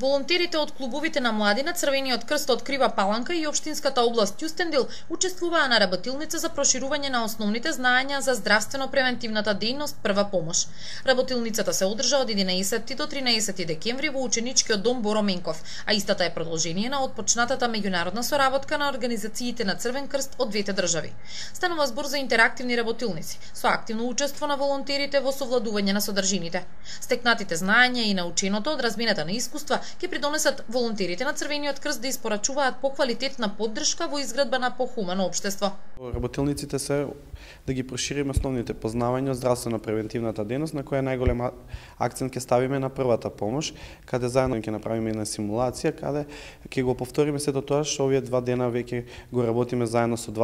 Волонтерите од клубовите на младина, Црвениот крст од Крива Паланка и општинската област Ќустендил учествуваа на работилница за проширување на основните знаења за здравствено-превентивната дејност прва помош. Работилницата се одржа од 11 до 13 декември во ученичкиот дом Боро Менков, а истата е продолжение на отпочнатата меѓународна соработка на организациите на Црвен крст од двете држави. Станува збор за интерактивни работилници со активно учество на волонтерите во совладување на содржините. Стекнатите знаења и наученото од размената на искуства ќе придонесат волонтерите на Црвениот крст да испорачуваат поквалитетна поддршка во изградба на похумано општество. Работилниците се да ги прошириме основните познавања од здравствено-превентивната дејност, на која најголем акцент ќе ставиме на првата помош, каде заедно ќе направиме една симулација, каде ќе го повториме сето тоа што овие 2 дена веќе го работиме заедно со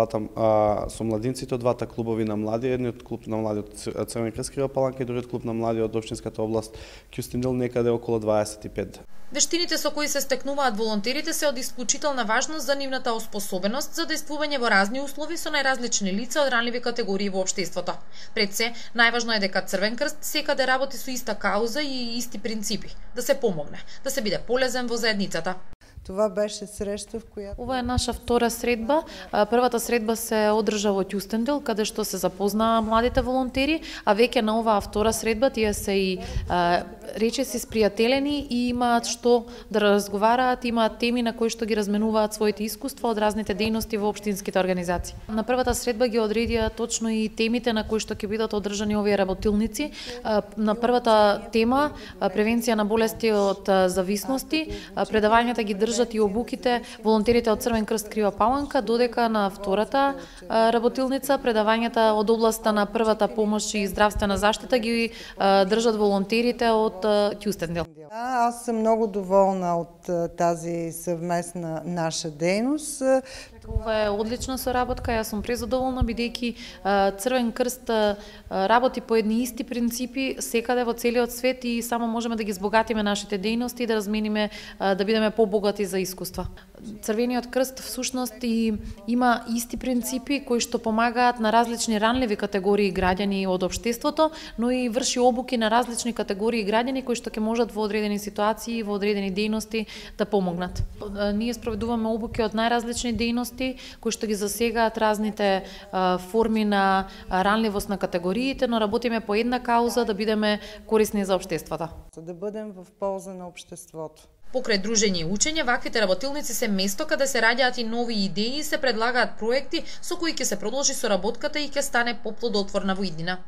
со младинците од двата клубови на млади, едниот клуб на млади од Црвен крст Крива Паланка и другиот клуб на млади од општинската област Ќустендил, некаде околу 25. Вештините со кои се стекнуваат волонтерите се од исклучителна важност за нивната оспособеност за действување во разни услови со најразлични лица од ранливи категории во општеството. Пред се, најважно е дека Црвен крст секаде работи со иста кауза и исти принципи, да се помогне, да се биде полезен во заедницата. Това беше среща в која... Ова е наша втора средба. Првата средба се одржа во Ќустендил, каде што се запознаа младите волонтери, а веќе на оваа втора средба тие се и речиси спријателени и имаат што да разговараат, имаат теми на кои што ги разменуваат своите искуства од разните дејности во општинските организации. На првата средба ги одредија точно и темите на кои што ќе бидат одржани овие работилници. На првата тема превенција на болести од зависности, предавањата ги држат и обуките волонтерите од Црвен крст Крива Паланка, додека на втората работилница предавањата од областа на првата помош и здравствена заштита ги држат волонтерите од Ќустендил. Аз съм много доволна от тази съвместна наша дейност. Това е одлична соработка, јас сум презадоволна бидејќи Црвен крст работи по едни исти принципи секаде во целиот свет и само можеме да ги збогатиме нашите дејности и да размениме, да бидеме побогати за искуства. Црвениот крст всушност и има исти принципи кои што помагаат на различни ранливи категории граѓани од општеството, но и врши обуки на различни категории граѓани кои што ќе можат во одредени ситуации, во одредени дејности да помогнат. Ние спроведуваме обуки од најразлични дејности кои што ги засегаат разните форми на ранливост на категориите, но работиме по една кауза да бидеме корисни за општеството. Да бидеме во полза на општеството. Покрај дружење и учење, ваквите работилници се место каде се раѓаат и нови идеи и се предлагаат проекти со кои ќе се продолжи соработката и ќе стане поплодотворна во иднина.